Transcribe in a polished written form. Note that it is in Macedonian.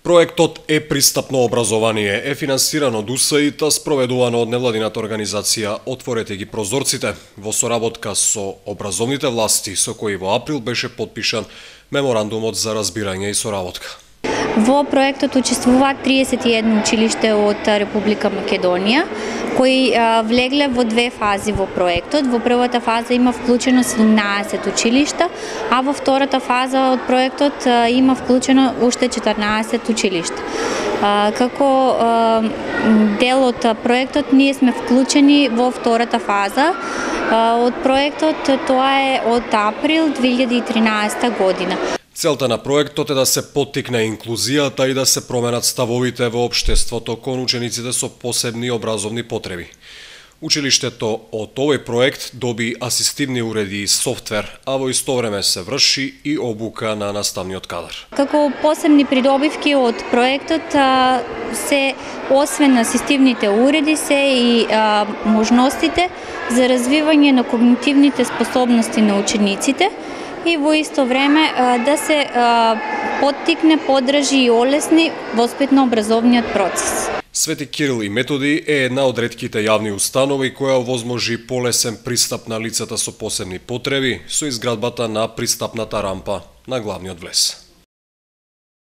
Проектот Е-пристапно образование е финансиран од УСАИД, спроведувано од невладината организација Отворете ги прозорците во соработка со образовните власти, со кои во април беше потпишан меморандумот за разбирање и соработка. Во проектот учествуваат 31 училиште од Република Македонија, кои влегле во две фази во проектот. Во првата фаза има вклучено 17 училишта, а во втората фаза од проектот има вклучено уште 14 училишта. Како дел од проектот ние сме вклучени во втората фаза од проектот, тоа е од април 2013 година. Целта на проектот е да се поттикне инклузијата и да се променат ставовите во општеството кон учениците со посебни образовни потреби. Училиштето од овој проект доби асистивни уреди и софтвер, а во исто време се врши и обука на наставниот кадар. Како посебни придобивки од проектот се, освен асистивните уреди, се и можностите за развивање на когнитивните способности на учениците, и во исто време да се поттикне, поддржи и олесни воспитно-образовниот процес. Свети Кирил и Методи е една од ретките јавни установи која овозможи полесен пристап на лицата со посебни потреби со изградбата на пристапната рампа на главниот влез.